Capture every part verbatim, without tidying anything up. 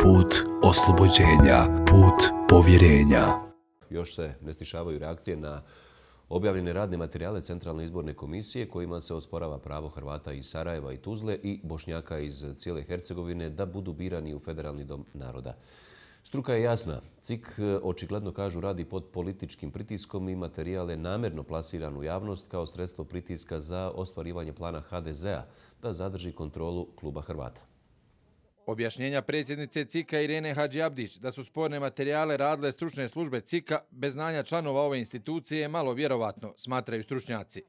put oslobođenja, put povjerenja. Još se ne stišavaju reakcije na objavljene radne materijale Centralne izborne komisije kojima se osporava pravo Hrvata iz Sarajeva i Tuzle i Bošnjaka iz cijele Hercegovine da budu birani u Federalni dom naroda. Struka je jasna. C I K očigledno kažu radi pod političkim pritiskom i materijal je namjerno plasiran u javnost kao sredstvo pritiska za ostvarivanje plana H D Z-a da zadrži kontrolu kluba Hrvata. Objašnjenja predsjednice C I K-a Irene Hadžiabdić da su sporne materijale radile stručne službe C I K-a bez znanja članova ove institucije je malo vjerovatno, smatraju stručnjaci.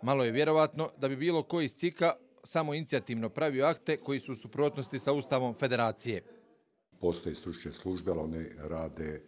Malo je vjerovatno da bi bilo ko iz C I K-a samo inicijativno pravio akte koji su u suprotnosti sa Ustavom Federacije. Postoje stručne službe, ali one rade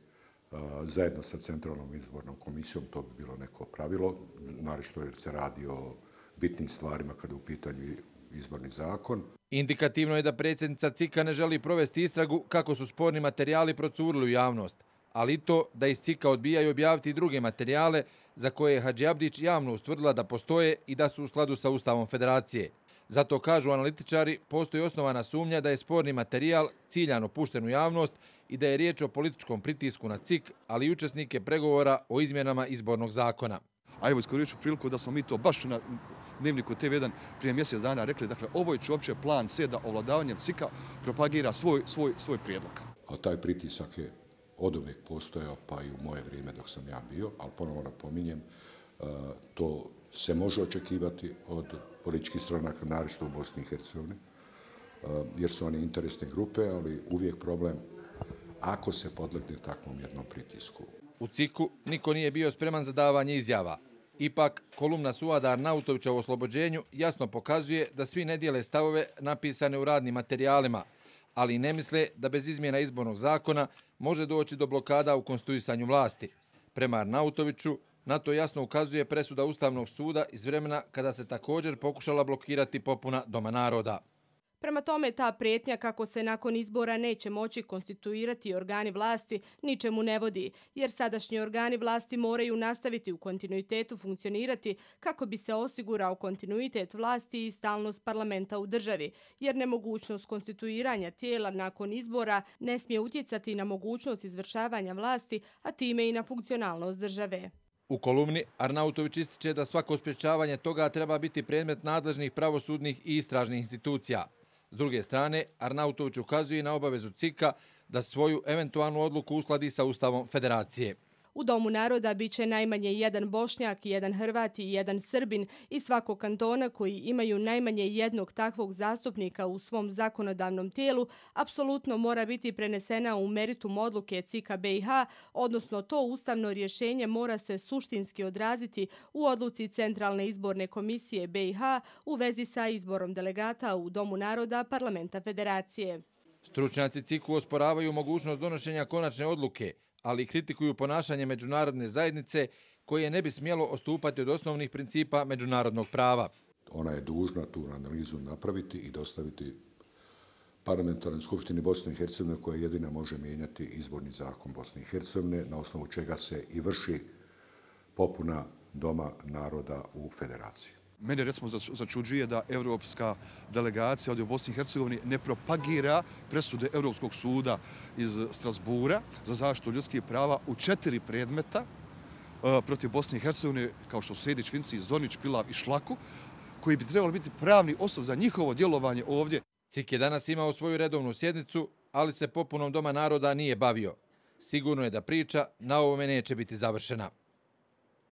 uh, zajedno sa Centralnom izbornom komisijom, to bi bilo neko pravilo, naročito jer se radi o bitnim stvarima kada je u pitanju izborni zakon. Indikativno je da predsjednica C I K-a ne želi provesti istragu kako su sporni materijali procurili u javnost, ali i to da iz C I K-a odbijaju objaviti druge materijale za koje je Hadžiabdić javno ustvrdila da postoje i da su u skladu sa Ustavom Federacije. Zato, kažu analitičari, postoji osnovana sumnja da je sporni materijal ciljano pušten u javnost i da je riječ o političkom pritisku na C I K, ali i učesnike pregovora o izmjenama izbornog zakona. A evo iskoristit ću priliku da smo mi to baš na Dnevniku T V jedan prije mjesec dana rekli, dakle, ovo je uopće plan C da ovladavanjem C I K-a propagira svoj, svoj, svoj prijedlog. A taj pritisak je oduvijek postojao, pa i u moje vrijeme dok sam ja bio, ali ponovno napominjem, to se može očekivati od političkih stranaka, naročito u Bosni i Hercegovini, jer su one interesne grupe, ali uvijek problem ako se podlegne takvom jednom pritisku. U C I K-u niko nije bio spreman za davanje izjava. Ipak, kolumna Suada Arnautovića o oslobođenju jasno pokazuje da svi ne dijele stavove napisane u radnim materijalima, ali ne misle da bez izmjena izbornog zakona može doći do blokada u konstituisanju vlasti. Prema Arnautoviću, na to jasno ukazuje presuda Ustavnog suda iz vremena kada se također pokušala blokirati popuna Doma naroda. Prema tome, ta prijetnja kako se nakon izbora neće moći konstituirati organi vlasti ničemu ne vodi, jer sadašnji organi vlasti moraju nastaviti u kontinuitetu funkcionirati kako bi se osigurao kontinuitet vlasti i stalnost parlamenta u državi, jer nemogućnost konstituiranja tijela nakon izbora ne smije utjecati na mogućnost izvršavanja vlasti, a time i na funkcionalnost države. U kolumni Arnautović ističe da svako sprječavanje toga treba biti predmet nadležnih pravosudnih i istražnih institucija. S druge strane, Arnautović ukazuje na obavezu C I K-a da svoju eventualnu odluku uskladi sa Ustavom Federacije. U Domu naroda bit će najmanje jedan Bošnjak, jedan Hrvat i jedan Srbin iz svakog kantona koji imaju najmanje jednog takvog zastupnika u svom zakonodavnom tijelu, apsolutno mora biti prenesena u meritum odluke C I K-a B i H, odnosno to ustavno rješenje mora se suštinski odraziti u odluci Centralne izborne komisije B i H u vezi sa izborom delegata u Domu naroda Parlamenta Federacije. Stručnjaci C I K-u osporavaju mogućnost donošenja konačne odluke, ali kritikuju ponašanje međunarodne zajednice koje ne bi smjelo odstupati od osnovnih principa međunarodnog prava. Ona je dužna tu analizu napraviti i dostaviti Parlamentarnoj skupštini Bosne i Hercegovine koja jedina može mijenjati izborni zakon Bosne i Hercegovine, na osnovu čega se i vrši popuna Doma naroda u Federaciji. Mene recimo začuđuje da europska delegacija ovdje u Bosni i Hercegovini ne propagira presude Europskog suda iz Strasbura za zaštitu ljudskih prava u četiri predmeta protiv Bosne i Hercegovine, kao što su Sejdić, Vinci, Zornić, Pilav i Šlaku, koji bi trebali biti pravni osnov za njihovo djelovanje ovdje. C I K je danas imao svoju redovnu sjednicu, ali se popunom Doma naroda nije bavio. Sigurno je da priča na ovome neće biti završena.